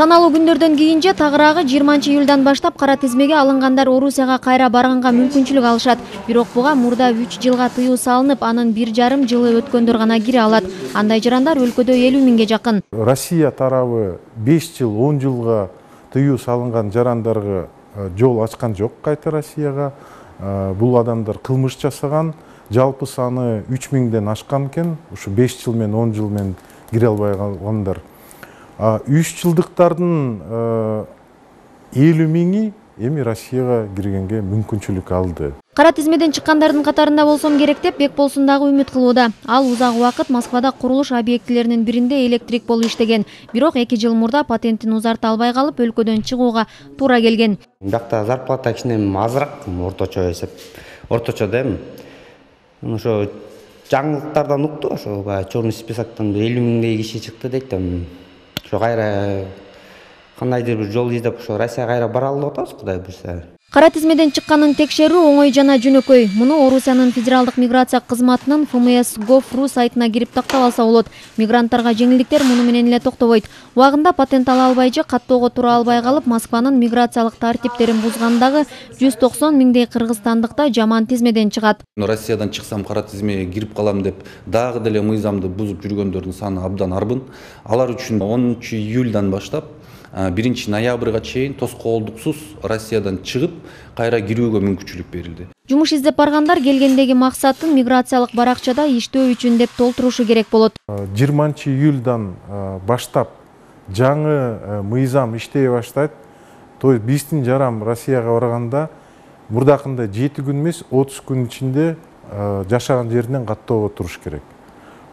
Саналуу күндөрдөн кийин же тагыраагы 20-июлдан баштап кара тизмеге алынгандар Орусияга кайра барганга мүмкүнчүлүк алышат. Бирок буга мурда 3 жылга тыюу салынып, анын 1,5 жылы өткөндөр гана кире алат. Андай жарандар өлкөдө 50 миңге жакын. Россия тарабы 5 жыл, 10 жылга тыюу салынган жарандарга жол ачкан жок кайта Россияга. Бул адамдар кылмыш жасаган, жалпы саны 3 миңден ашкан экен. Ушу 5 жыл менен 10 жыл менен кире албай калгандар. 3 жылдыктардын 50 миңи эми Россияга киргенге мүмкүнчүлүк алды. Кара тизмеден чыккандардын катарында болсом керек деп Бекболсун дагы үмүт кылууда. Ал узак убакыт Москвада курулуш объектилеринин биринде электрик болуп иштеген. Бирок 2 жыл мурда патентин узарта албай калып, өлкөдөн чыгууга туура келген. Бакта зарплата кичине азыраак, орточо эсеп. Орточо дейм. Ошо жаңылыктардан укту, ошо черный списоктон 50 миңдей киши чыкты дейт. Ошо кайра кандайдыр бир жол издеп ошо Россияга кайра бара алып атабыз, Кудай буйрса. Кара тизмеден чыкканын текшерүү оңой жана жөнөкөй. Муну Орусиянын федералдык миграция кызматынын FMS.gov.ru сайтына кирип тактап алса болот. Мигранттарга жеңилдиктер муну менен эле токтобойт. Убагында патент ала албай же каттоого тура албай калып, Москванын миграциялык тартиптерин бузгандагы 190 миңдей кыргызстандыкта жаман тизмеден чыгат. Россиядан чыксам кара тизмеге кирип калам деп дагы деле мыйзамды бузуп жүргөндөрдүн саны абдан арбын. Алар үчүн 10-июлдан баштап 1-ноябрга чейин тоскоолдуксуз Россиядан чыгып, кайра кирүүгө мүмкүнчүлүк берилди. Жумуш издеп баргандар келгендеги максатын миграциялык баракчада иштөө үчүн деп толтурушу керек болот. 20-июлдан баштап жаңы мыйзам иштей баштайт. То есть биздин жарам Россияга барганда мурдакындай 7 күн эмес, 30 күн ичинде жашаган жеринен каттоого туруш керек.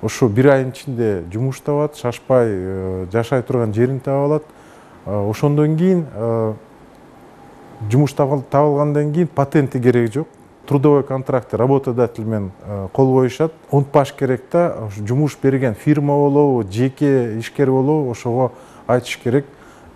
Ошо 1 айдын ичинде жумуш табат, шашпай жашай турган жерин таба алат. Ошондон кийин жумуш табылгандан кийин патенти кереги жок. Трудовой контракт работодатель менен кол коюшат. Унутпаш керек да, жумуш берген фирма болобу, жеке ишкер болобу, ошого айтыш керек.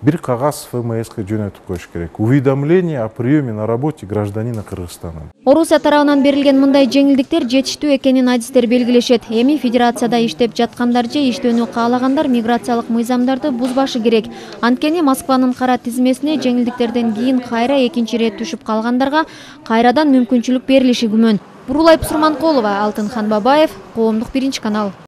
Бир кагаз ФМСке жөнөтүп коюш керек. Уведомление о приеме на работе гражданина Кыргызстана. Орусия тарабынан берилген мындай жеңилдиктер жетиштүү экенин адистер белгилешет. Эми федерацияда иштеп жаткандар же иштөөнү каалагандар миграциялык мыйзамдарды бузбашы керек. Анткени Москванын кара тизмесине жеңилдиктерден кийин кайра экинчи ирет түшүп калгандарга кайрадан мүмкүнчүлүк берилиши күмөн. Бурулай Сурманкулова, Алтынхан Бабаев, Коомдук 1 канал.